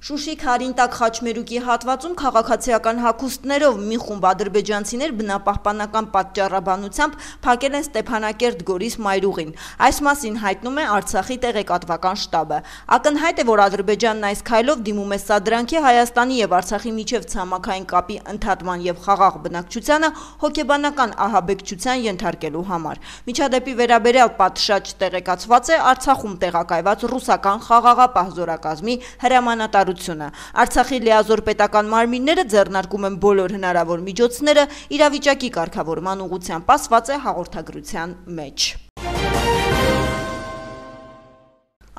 Շուշի Քարինտակ խաչմերուկի հատվածում քաղաքացիական հագուստներով մի խումբ ադրբեջանցիներ բնապահպանական պատճառաբանությամբ փակել են Ստեփանակերտ Գորիս մայրուղին։ Այս մասին հայտնում է Արցախի տեղեկատվական շտաբը։ Ակնհայտ է, որ Ադրբեջանն այս քայլով դիմում է սադրանքի Հայաստանի եւ Արցախի միջև ցամաքային կապի ընդհատման եւ խաղաղ բնակչությանը հոգեբանական ահաբեկչության ենթարկելու համար։ Միջադեպի վերաբերյալ պատշաճ տեղեկացված է Արցախում տեղակայված ռուսական խաղաղապահ զորակազմի հրամանատար Արցախի լիազոր պետական մարմինները ձեռնարկում են բոլոր հնարավոր միջոցները իրավիճակի կարգավորման ուղղությամբ, ասված է հաղորդագրության մեջ։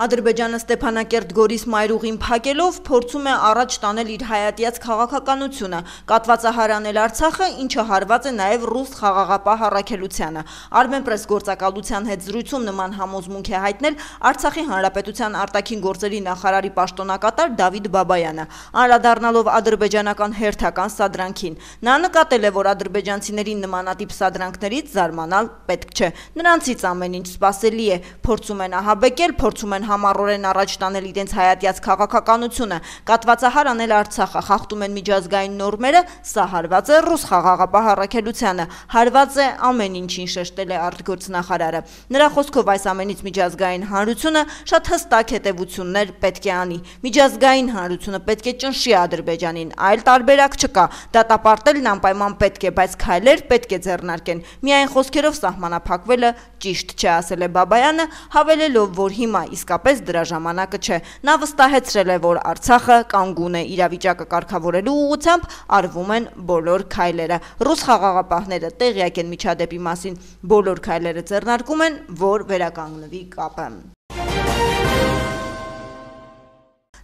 Ադրբեջանը Ստեփանակերտ Գորիս մայրուղին փակելով փորձում է առաջ տանել իր հայատյաց քաղաքականությունը, կատվածահարանել Արցախը, ինչը հարված է նաև ռուս խաղաղապահ առաքելությանը։ Armenpress գործակալության հետ զրույցում նման համոզմունք է հայտնել Արցախի Հանրապետության արտաքին գործերի նախարարի պաշտոնակատար Դավիթ Բաբայանը, անդրադառնալով ադրբեջանական հերթական սադրանքին։ Նա նկատել է, որ ադրբեջանցիներին նմանատիպ սադրանքներից զարմանալ պետք չէ։ Նրանցից ամեն ինչ սպասելի է, փորձում են ահաբեկել, փորձում են համառորեն առաջ տանել իրենց հայատյաց քաղաքականությունը, կատվածահար անել Արցախը, խախտում են միջազգային նորմերը, սա հարված է ռուս խաղաղապահ առաքելությանը, հարված է ամեն ինչին, շեշտել է արտգործնախարարը։ Նրա խոսքով այս ամենից միջազգային հանրությունը շատ հստակ հետևություններ պետք է անի։ Միջազգային հանրությունը պետք է ճնշի Ադրբեջանին, այլ տարբերակ չկա, դատապարտելն անպայման պետք է, բայց քայլեր պետք է ձեռնարկեն։ Միայն խոսքերով սահմանափակվելը ճիշտ չէ, ասել է Բաբայանը, հավելելով, որ հիմա իսկապես դրա ժամանակը չէ։ Նա վստահեցրել է, որ Արցախը կանգուն է, իրավիճակը կարգավորելու ուղղությամբ արվում են բոլոր քայլերը։ Ռուս խաղաղապահները տեղյակ են միջադեպի մասին, բոլոր քայլերը ձեռնարկում են, որ վերականգնվի կապը։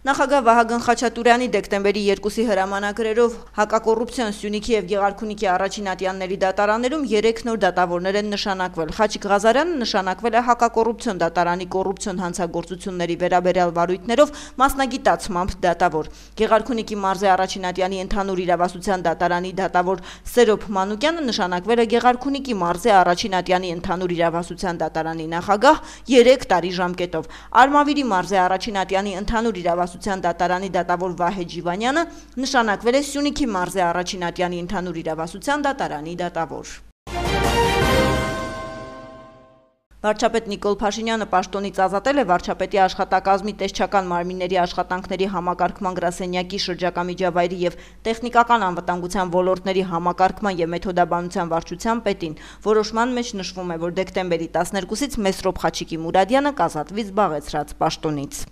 Նախագահ Վահագն Խաչատուրյանի դեկտեմբերի 2-ի հրամանագրերով հակակոռուպցիոն Սյունիքի եւ Գեղարքունիքի առաջին ատյանների դատարաններում 3 նոր դատավորներ են նշանակվել։ Խաչիկ Ղազարյանը նշանակվել է հակակոռուպցիոն դատարանի կոռուպցիոն հանցագործությունների վերաբերյալ վարույթներով մասնագիտացմամբ դատավոր։ Գեղարքունիքի մարզի առաջին ատյանի ընդհանուր իրավասության դատարանի դատավոր Սերոբ Մանուկյանը նշանակվել է Գեղարքունիքի մարզի առաջին ատյանի ընդհանուր իրավասության դատարանի նախագահ 3 տարի ժամկետով։ Արմավիրի մարզի առաջին ատյանի ընդհանուր իրավասության դատարանի դատավոր Վահե Ջիվանյանը նշանակվել է Սյունիքի մարզի առաջին ատյանի ընդհանուր իրավասության դատարանի դատավոր։ Վարչապետ Նիկոլ Փաշինյանը պաշտոնից ազատել է վարչապետի աշխատակազմի տեսչական մարմինների աշխատանքների համակարգման գրասենյակի շրջակա միջավայրի եւ տեխնիկական անվտանգության ոլորտների համակարգման եւ մեթոդաբանության վարչության պետին։ Որոշման մեջ նշվում է, որ դեկտեմբերի 12-ից Մեսրոբ Խաչիկի Մուրադյանը կազատվի զբաղեցրած պաշտոնից։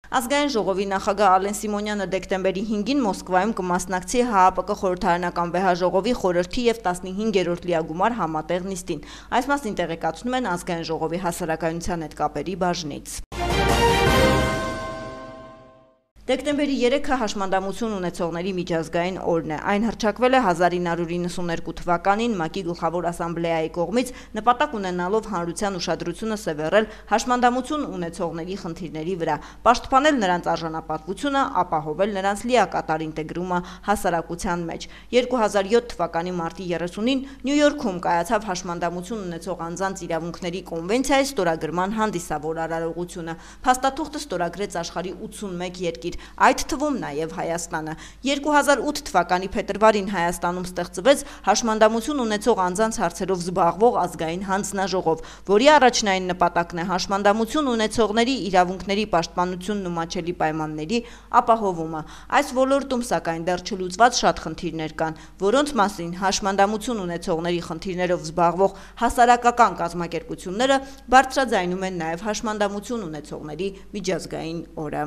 Ազգային ժողովի նախագահ Ալեն Սիմոնյանը դեկտեմբերի 5-ին Մոսկվայում կմասնակցի ՀԱՊԿ խորհրդարանական վեհաժողովի խորհրդի եւ 15-րդ լիագումար համատեղ նիստին։ Այս մասին տեղեկացնում են Ազգային ժողովի հասարակայնության հետ կապերի բաժնից։ Դեկտեմբերի 3-ը հաշմանդամություն ունեցողների միջազգային օրն է։ Այն հռչակվել է 1992 թվականին ՄԱԿ-ի գլխավոր ասամբլեայի կողմից նպատակ ունենալով հանրության ուշադրությունը սևեռել հաշմանդամություն ունեցողների խնդիրների վրա, պաշտպանել նրանց արժանապատվությունը, ապահովել նրանց լիակատար ինտեգրումը հասարակության մեջ։ 2007 թվականի մարտի 30-ին Նյու Յորքում կայացավ հաշմանդամություն ունեցող անձանց իրավունքների կոնվենցիայի ստորագրման հանդիսավոր արարողությունը։ Փաստաթուղթը ստորագրեց աշխարհի 81 երկիր, այդ թվում նաև Հայաստանը։ 2008 թվականի փետրվարին Հայաստանում ստեղծվեց հաշմանդամություն ունեցող անձանց հարցերով զբաղվող ազգային հանձնաժողով, որի առաջնային նպատակն է հաշմանդամություն ունեցողների իրավունքների պաշտպանությունն ու մատչելի պայմանների ապահովումը։ Այս ոլորտում սակայն դեռ չլուծված շատ խնդիրներ կան, որոնց մասին հաշմանդամություն ունեցողների խնդիրներով զբաղվող հասարակական կազմակերպությունները բարձրաձայնում են նաև հաշմանդամություն ունեցողների միջազգային օրը։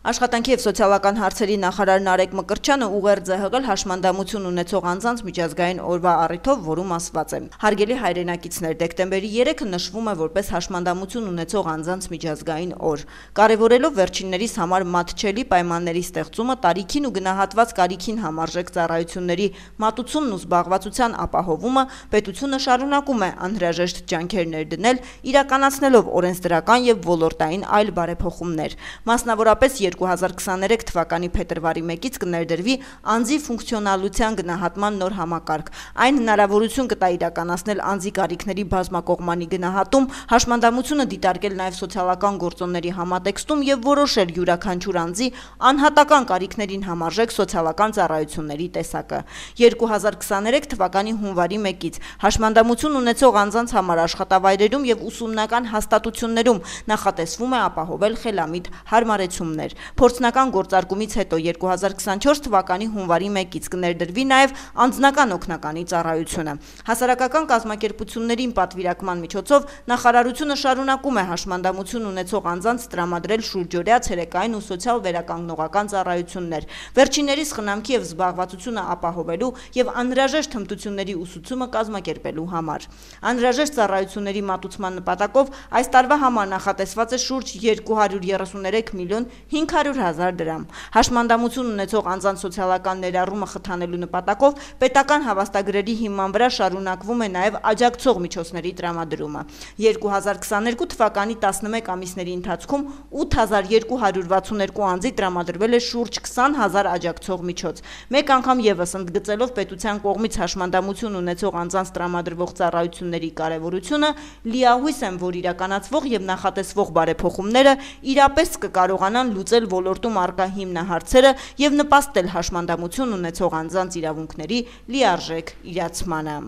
Աշխատանքի և սոցիալական հարցերի նախարար Նարեկ Մկրտչյանը ուղերձ է հղել հաշմանդամություն ունեցող անձանց միջազգային օրվա առիթով, որում ասված է. Հարգելի հայրենակիցներ, դեկտեմբերի 3-ը նշվում է որպես հաշմանդամություն ունեցող անձանց միջազգային օր։ Կարևորելով վերջիններիս համար մատչելի պայմանների ստեղծումը, տարիքին ու գնահատված կարիքին համարժեք ծառայությունների մատուցումն ու զբաղվածության ապահովումը, պետությունը շարունակում է անհրաժեշտ ջանքեր ներդնել, իրականացնելով օրենսդրական և ոլորտային այլ բարեփոխումներ։ Մասնավորապես 2023 թվականի փետրվարի 1-ից կներդրվի անձի ֆունկցիոնալության գնահատման նոր համակարգ։ Այն հնարավորություն կտա իրականացնել անձի կարիքների բազմակողմանի գնահատում, հաշմանդամությունը դիտարկել նաև սոցիալական գործոնների համատեքստում եւ որոշել յուրաքանչյուր անձի անհատական կարիքներին համարժեք սոցիալական ծառայությունների տեսակը։ 2023 թվականի հունվարի 1-ից հաշմանդամություն ունեցող անձանց համար աշխատավայրերում եւ ուսումնական հաստատություններում նախատեսվում է ապահովել խելամիտ հարմարեցումներ։ Փորձնական գործարկումից հետո 2024 թվականի հունվարի 1-ից կներդրվի նաև անձնական օգնականի ծառայությունը։ Հասարակական կազմակերպություններին պատվիրակման միջոցով նախարարությունը շարունակում է հաշմանդամություն ունեցող անձանց տրամադրել շուրջօրյա ցերեկային ու սոցիալ վերականգնողական ծառայություններ, վերջիններիս խնամքի եւ զբաղվածությունը ապահովելու եւ անհրաժեշտ հմտությունների ուսուցումը կազմակերպելու համար։ Անհրաժեշտ ծառայությունների մատուցման նպատակով այս տարվա համար նախատեսված է շուրջ 233 միլիոն 500 հազար դրամ։ Հաշմանդամություն ունեցող անձանց սոցիալական ներառումը խթանելու նպատակով պետական հավաստագրերի հիման վրա շարունակվում է նաև աջակցող միջոցների տրամադրումը։ 2022 թվականի 11 ամիսների ընթացքում 8262 անձի տրամադրվել է շուրջ 20000 աջակցող միջոց։ Մեկ անգամ եւս ընդգծելով պետության կողմից հաշմանդամություն ունեցող անձանց տրամադրվող ծառայությունների կարևորությունը, լիահույս եմ, որ իրականացվող եւ նախատեսվող բարեփոխումները իրապես կկարողանան լուծել ոլորտում առկա հիմնահարցերը եւ նպաստել հաշմանդամություն ունեցող անձանց իրավունքների լիարժեք իրացմանը։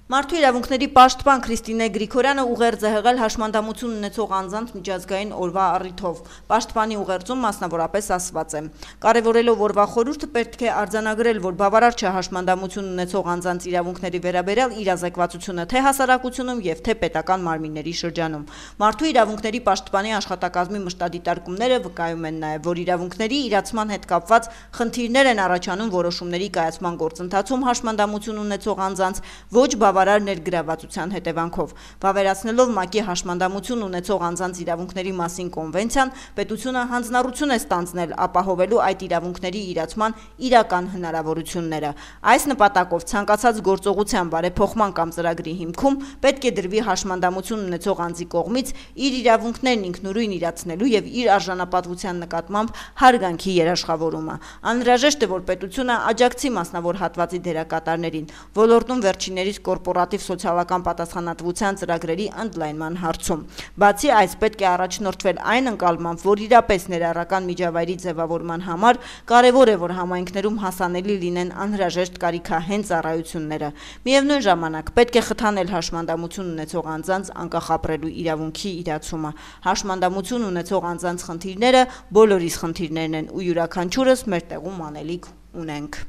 Մարդու իրավունքների պաշտպան Քրիստինե Գրիգորյանը ուղերձ է հղել հաշմանդամություն ունեցող անձանց միջազգային օրվա առիթով։ Պաշտպանի ուղերձում մասնավորապես ասված է. «Կարևորելով օրվա խորհուրդը պետք է արձանագրել, որ բավարար չէ հաշմանդամություն ունեցող անձանց իրավունքների վերաբերյալ իրազեկվածությունը թե հասարակությունում եւ թե պետական մարմինների շրջանում։ Մարդու իրավունքների պաշտպանի աշխատակազմի մշտադիտարկումները վկայում են նաեւ, որ իրավունքների իրացման հետ կապված խնդիրներ են առաջանում որոշումների կայացման գործընթացում հաշմանդամություն ունեցող անձանց ոչ բավարար ներգրավվածության հետևանքով։ Վավերացնելով ՄԱԿ-ի հաշմանդամություն ունեցող անձանց իրավունքների մասին կոնվենցիան, պետությունը հանձնառություն է ստանձնել ապահովելու այդ իրավունքների իրացման իրական հնարավորությունները։ Այս նպատակով ցանկացած գործողության բարեփոխման կամ ծրագրի հիմքում պետք է դրվի հաշմանդամություն ունեցող անձի կողմից իր իրավունքներն ինքնուրույն իրացնելու եւ իր արժանապատվության նկատմամբ հարգանքի երաշխավորումը։ Անհրաժեշտ է, որ պետությունը աջակցի մասնավոր հատվածի դերակատարներին, ոլորտում վերջիններիս կորպորատիվ սոցիալական պատասխանատվության ծրագրերի ընդլայնման հարցում։ Բացի այս, պետք է առաջնորդվել այն ընկալմամբ, որ իրապես ներառական միջավայրի ձևավորման համար կարևոր է, որ համայնքներում հասանելի լինեն անհրաժեշտ կարիքահեն ծառայությունները։ Միևնույն ժամանակ պետք է խթանել հաշմանդամություն ունեցող անձանց անկախ ապրելու իրավունքի իրացումը։ Հաշմանդամություն ունեցող անձանց խնդիրները բոլորիս խնդիրներն են ու յուրաքանչյուրս մեր տեղում անելիք ունենք։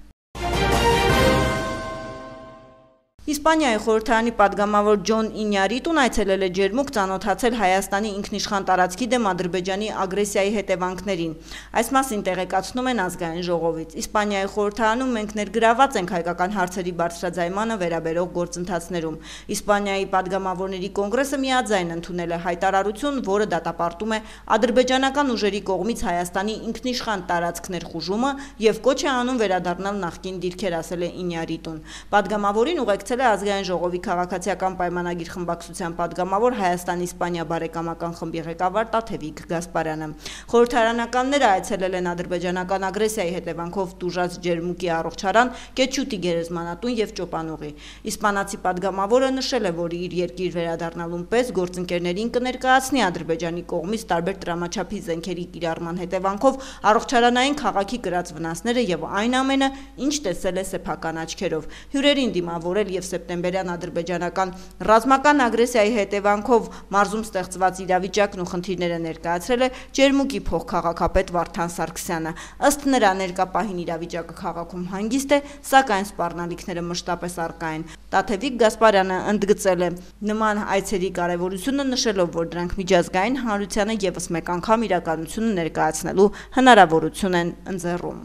Իսպանիայի խորհրդարանի падգամավոր Ջոն Ինյարիտուն այցելել է Ջերմուկ ծանոթացել Հայաստանի ինքնիշխան տարածքի դեմ Ադրբեջանի ագրեսիայի հետևանքներին։ Այս մասին տեղեկացնում են ազգային ժողովից։ Իսպանիայի խորհրդարանում մենք ներգրաված ենք հայկական հարցերի բարձրաձայմանը վերաբերող գործընթացներում։ Իսպանիայի падգամավորների կոնգրեսը միաձայն ընդունել է հայտարարություն, որը դատապարտում է ադրբեջանական ուժերի կողմից Հայաստանի ինքնիշխան տարածք ներխուժումը եւ կոչ է անում վերադառնալ նախկին դիրքեր, ասել է Ինյարիտուն։ Падգամավորին ուղեկցել ազգային ժողովի քաղաքացիական պայմանագիր խմբակցության падգամավոր Հայաստան-Իսպանիա բարեկամական խմբի ղեկավար Տաթևիկ Գասպարյանը։ Խորհրդարանականները այցելել են ադրբեջանական ագրեսիայի հետևանքով տուժած Ջերմուկի առողջարան, Կեչուտի գերեզմանատուն եւ Ճոպանուղի։ Իսպանացի падգամավորը նշել է, որ իր երկիր վերադառնալուն պես գործընկերներին կներկայացնի Ադրբեջանի կողմից տարբեր տրամաչափի զենքերի կիրառման հետևանքով առողջարանային քաղաքի կրած վնասները եւ այն ամենը, ինչ տեսել է սեփական աչքերով։ Հյուրերին դիմավորել եւ սեպտեմբերյան ադրբեջանական ռազմական ագրեսիայի հետևանքով մարզում ստեղծված իրավիճակն ու խնդիրները ներկայացրել է Ջերմուկի փոխքաղաքապետ Վարդան Սարգսյանը։ Ըստ նրա, ներկա պահին իրավիճակը քաղաքում հանգիստ է, սակայն սպառնալիքները մշտապես առկա են։ Տաթևիկ Գասպարյանը ընդգծել է նման այցերի կարևորությունը, նշելով, որ դրանք միջազգային հանրությանը եւս մեկ անգամ իրականությունը ներկայացնելու հնարավորություն են ընձեռում։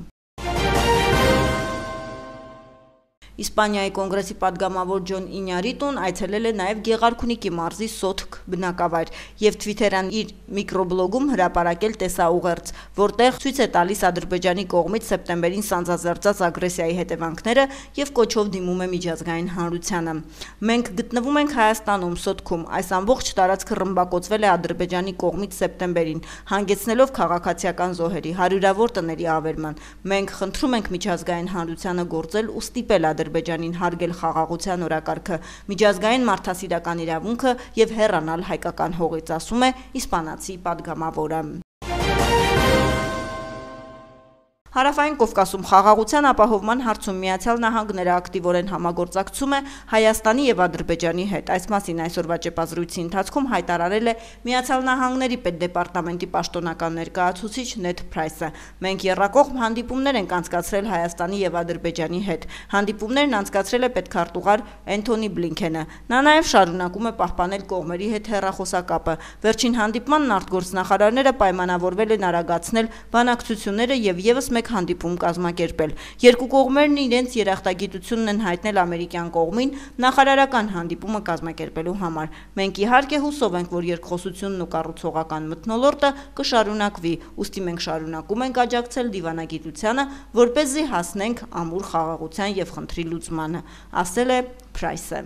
Իսպանիայի կոնգրեսի պատգամավոր Ջոն Ինյարիտուն այցելել է նաև Գեղարքունիքի մարզի Սոտք բնակավայր եւ Twitter-ան իր միկրոբլոգում հրապարակել տեսաուղերձ, որտեղ ցույց է տալիս Ադրբեջանի կողմից սեպտեմբերին սանձազերծած ագրեսիայի հետևանքները եւ կոչով դիմում է միջազգային հանրությանը։ Մենք գտնվում ենք Հայաստանում, Սոտքում, այս ամբողջ տարածքը ռմբակոծվել է Ադրբեջանի կողմից սեպտեմբերին, հանգեցնելով քաղաքացիական զոհերի, հարյուրավոր տների ավերման։ Մենք խնդրում ենք միջազգային հանրությանը գործել ու ստիպել Ադրբեջանին հարգել խաղաղության օրակարգը, միջազգային մարդասիրական իրավունքը եւ հեռանալ հայկական հողից, ասում է իսպանացի պատգամավորը։ Հարավային Կովկասում խաղաղության ապահովման հարցում Միացյալ Նահանգները ակտիվորեն համագործակցում է Հայաստանի եւ Ադրբեջանի հետ։ Այս մասին այսօրվա ճեպազրույցի ընթացքում հայտարարել է Միացյալ Նահանգների պետդեպարտամենտի պաշտոնական ներկայացուցիչ Նեդ Փրայսը։ Մենք եռակողմ հանդիպումներ ենք անցկացրել Հայաստանի եւ Ադրբեջանի հետ։ Հանդիպումներն անցկացրել է պետքարտուղար Էնթոնի Բլինքենը։ Նա նաեւ շարունակում է պահպանել կողմերի հետ հեռախոսակապը։ Վերջին հանդիպմանն արտգործնախարարները պայմանավորվել են արագացնել բանակցությունները եւ եւս հանդիպում կազմակերպել։ Երկու կողմերն իրենց երախտագիտությունն են հայտնել ամերիկյան կողմին նախարարական հանդիպումը կազմակերպելու համար։ Մենք իհարկե հուսով ենք, որ երկխոսությունն ու կառուցողական մթնոլորտը կշարունակվի, ուստի մենք շարունակում ենք աջակցել դիվանագիտությանը, որպեսզի հասնենք ամուր խաղաղության եւ խնդրի լուծմանը, ասել է Փրայսը։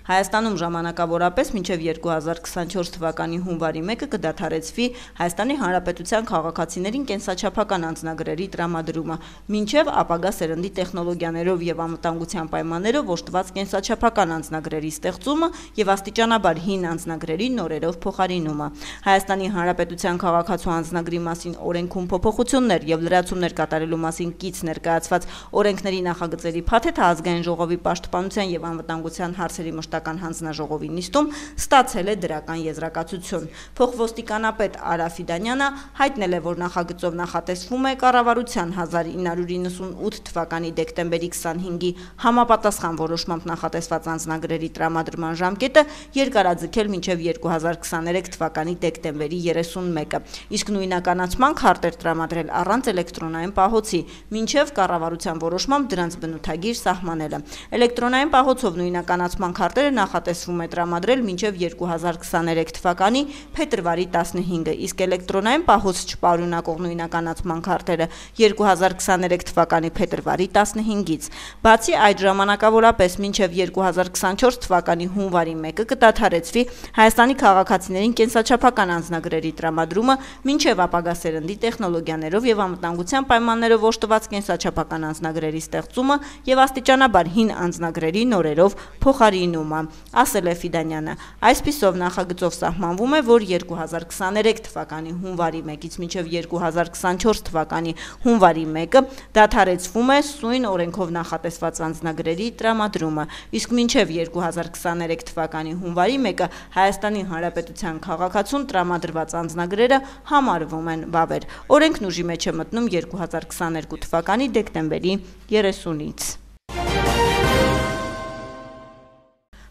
Հայաստանում ժամանակավորապես մինչև 2024 թվականի հունվարի 1-ը կդադարեցվի Հայաստանի Հանրապետության քաղաքացիներին կենսաչափական անձնագրերի տրամադրումը, մինչև ապագա սերնդի տեխնոլոգիաներով եւ անվտանգության պայմաններով օժտված կենսաչափական անձնագրերի ստեղծումը եւ աստիճանաբար հին անձնագրերի նորերով փոխարինումը։ Հայաստանի Հանրապետության քաղաքացու անձնագրի մասին օրենքում փոփոխություններ եւ լրացումներ կատարելու մասին կից ներկայացված օրենքների նախագծերի փաթեթը ազգային ժողովի պաշտպանության եւ անվտանգության հարցերի հանձնաժողովի նիստում ստացել է դրական եզրակացություն։ Փոխոստիկանապետ Արա Ֆիդանյանը հայտնել է, որ նախագծով նախատեսվում է կառավարության 1998 թվականի դեկտեմբերի 25-ի համապատասխան որոշմամբ նախատեսված անձնագրերի տրամադրման ժամկետը երկարաձգել մինչև 2023 թվականի դեկտեմբերի 31-ը, իսկ նույնականացման քարտեր տրամադրել առանց էլեկտրոնային պահոցի, մինչև կառավարության որոշմամբ դրանց բնութագիր սահմանելը։ Էլեկտրոնային պահոցով նույնականացման քարտերը նախատեսվում է տրամադրել մինչև 2023 թվականի փետրվարի 15-ը, իսկ էլեկտրոնային պահոց չպարունակող նույնականացման քարտերը 2023 թվականի փետրվարի 15-ից։ Բացի այդ, ժամանակավորապես մինչև 2024 թվականի հունվարի 1-ը կդադարեցվի Հայաստանի քաղաքացիներին կենսաչափական անձնագրերի տրամադրումը, մինչև ապագա սերնդի տեխնոլոգիաներով եւ անվտանգության պայմաններով օժտված կենսաչափական անձնագրերի ստեղծումը եւ աստիճանաբար հին անձնագրերի նորերով փոխարինումը, ասել է Ֆիդանյանը։ Այսպիսով նախագծով սահմանվում է, որ 2023 թվականի հունվարի 1-ից մինչև 2024 թվականի հունվարի 1-ը դադարեցվում է սույն օրենքով նախատեսված անձնագրերի տրամադրումը, իսկ մինչև 2023 թվականի հունվարի 1-ը Հայաստանի Հանրապետության քաղաքացուն տրամադրված անձնագրերը համարվում են վավեր։ Օրենքն ուժի մեջ է մտնում 2022 թվականի դեկտեմբերի 30-ից։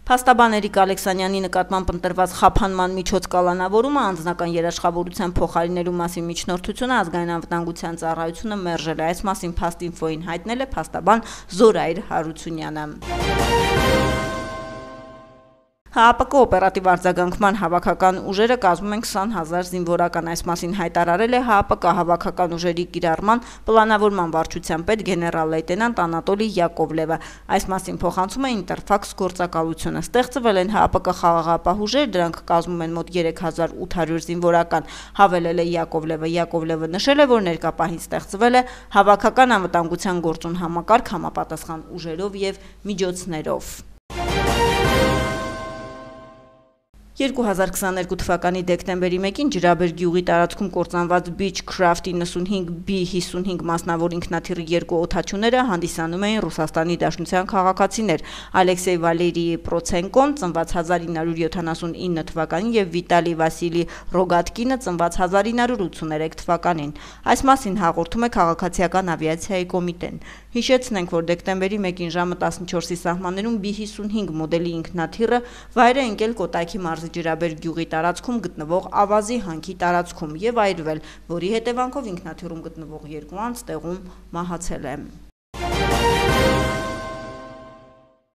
Փաստաբան Էրիկ Ալեքսանյանի նկատմամբ ընտրված խափանման միջոց կալանավորումը անձնական երաշխավորության փոխարինելու մասին միջնորդությունը ազգային անվտանգության ծառայությունը մերժել է։ Այս մասին Փաստինֆոյին հայտնել է փաստաբան Զորայր Հարությունյանը։ ՀԱՊԿ օպերատիվ արձագանքման հավաքական ուժերը կազմում են 20,000 զինվորական, այս մասին հայտարարել է ՀԱՊԿ հավաքական ուժերի կիրառման պլանավորման վարչության պետ գեներալ-լեյտենանտ Անատոլի Յակովլևը։ Այս մասին փոխանցում է Ինտերֆաքս գործակալությունը։ Ստեղծվել են ՀԱՊԿ խաղաղապահ ուժեր, դրանք կազմում են մոտ 3800 զինվորական, հավելել է Յակովլևը։ Յակովլևը նշել է, որ ներկա պահին ստեղծվել է հավաքական անվտանգության գործուն համակարգ համապատասխան ուժերով եւ միջոցներով։ 2022 թվականի դեկտեմբերի 1-ին Ջրաբեր գյուղի տարածքում կործանված Beechcraft 95B55 մասնավոր ինքնաթիռի երկու օդաչուները հանդիսանում էին Ռուսաստանի Դաշնության քաղաքացիներ Ալեքսեյ Վալերիի Պրոցենկոն, ծնված 1979 թվականին եւ Վիտալի Վասիլի Ռոգատկինը, ծնված 1983 թվականին։ Այս մասին հաղորդում է Քաղաքացիական ավիացիայի կոմիտեն։ Հիշեցնենք, որ դեկտեմբերի 1-ին ժամը 14-ի սահմաններում B55 մոդելի ինքնաթիռը վայր է ընկել Կոտայքի մարզի մարզի Ջրաբեր գյուղի տարածքում գտնվող ավազի հանքի տարածքում եւ այրվել, որի հետևանքով ինքնաթիռում գտնվող 2 անձ տեղում մահացել է։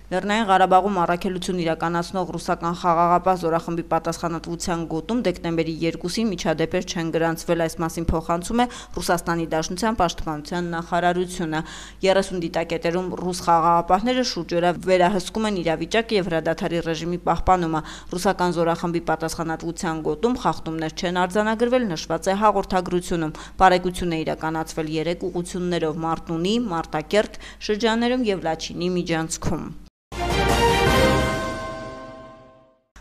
Լեռնային Ղարաբաղում առաքելություն իրականացնող ռուսական խաղաղապահ զորախմբի պատասխանատվության գոտում դեկտեմբերի 2-ին միջադեպեր չեն գրանցվել, այս մասին փոխանցում է Ռուսաստանի Դաշնության պաշտպանության նախարարությունը։ 30 դիտակետերում ռուս խաղաղապահները շուրջօրյա վերահսկում են իրավիճակը եւ հրադադարի ռեժիմի պահպանումը։ Ռուսական զորախմբի պատասխանատվության գոտում խախտումներ չեն արձանագրվել, նշված է հաղորդագրությունում։ Բարեկություն է իրականացվել 3 ուղղություններով՝ Մարտունի, Մարտակերտ շրջաններում եւ Լաչինի միջանցքում։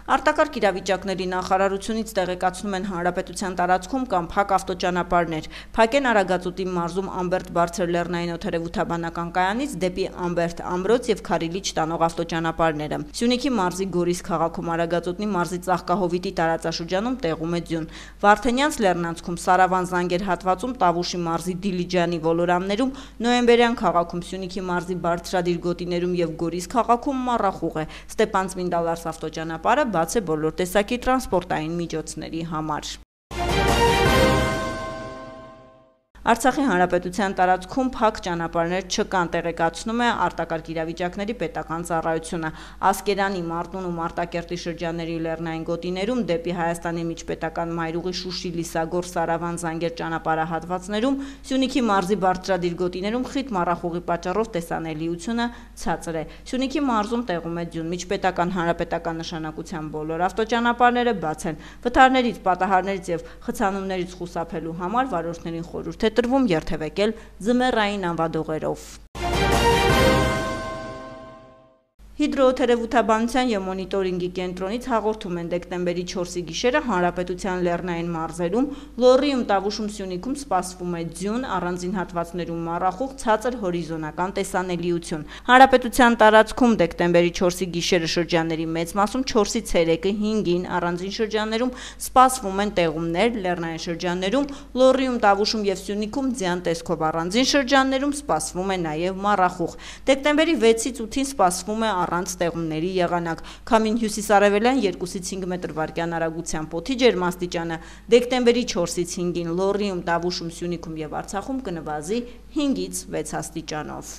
Արտակարգ իրավիճակների նախարարությունից տեղեկացնում են հանրապետության տարածքում կամ փակ ավտոճանապարհներ։ Փակ են Արագածուտի մարզում Ամբերտ բարձր լեռնային օդերևութաբանական կայանից դեպի Ամբերտ ամրոց եւ Քարիլիչ տանող ավտոճանապարհները։ Սյունիքի մարզի Գորիս քաղաքում Արագածուտնի մարզի Ծաղկահովիտի տարածաշրջանում տեղում է ձյուն։ Վարդենյանց լեռնանցքում Սարավան Զանգեր հատվածում Տավուշի մարզի Դիլիջանի ոլորամներում, Նոյեմբերյան քաղաքում Սյունիքի մարզի Բարձրադիր գոտիներում եւ Գորիս քաղաքում մառախուղ է։ Ստեփան-Ծմինդալարս ավտոճանապարհը բաց է բոլոր տեսակի տրանսպորտային միջոցների համար։ Արցախի հանրապետության տարածքում փակ ճանապարհներ չկան, տեղեկացնում է արտակարգ իրավիճակների պետական ծառայությունը։ Ասկերանի, Մարտուն ու Մարտակերտի շրջանների լեռնային գոտիներում դեպի Հայաստանի միջպետական մայրուղի Շուշի Լիսագոր Սարավան Զանգեր ճանապարհահատվածներում, Սյունիքի մարզի Բարձրադիր գոտիներում խիտ մառախուղի պատճառով տեսանելիությունը ցածր է։ Սյունիքի մարզում տեղում է ձյուն, միջպետական հանրապետական նշանակության բոլոր ավտոճանապարհները բաց են։ Վթարներից, պատահարներից եւ խցանումներից խուսափելու համար վարորդներին խորհուրդ է տրվում երթևեկել ձմեռային անվադողերով։ Հիդրոօդերևութաբանության եւ մոնիտորինգի կենտրոնից հաղորդում են դեկտեմբերի 4-ի գիշերը հանրապետության լեռնային մարզերում, Լոռիում, Տավուշում, Սյունիքում սպասվում է ձյուն, առանձին հատվածներում մառախուղ, ցածր հորիզոնական տեսանելիություն։ Հանրապետության տարածքում դեկտեմբերի 4-ի գիշերը շրջանների մեծ մասում 4-ից 3-ը 5-ին, առանձին շրջաններում սպասվում են տեղումներ, լեռնային շրջաններում, Լոռիում, Տավուշում եւ Սյունիքում ձյան տեսքով, առանձին շրջաններում սպասվում է նաեւ մառախուղ։ Դեկտեմբերի 6-ից 8-ին սպասվում է առանց տեղումների եղանակ։ Քամին հյուսիսարևելյան 2-ից 5 մետր/վայրկյան արագությամբ օդի ջերմաստիճանը դեկտեմբերի 4-ից 5-ին Լոռիում, Տավուշում, Սյունիքում եւ Արցախում կնվազի 5-ից 6 աստիճանով։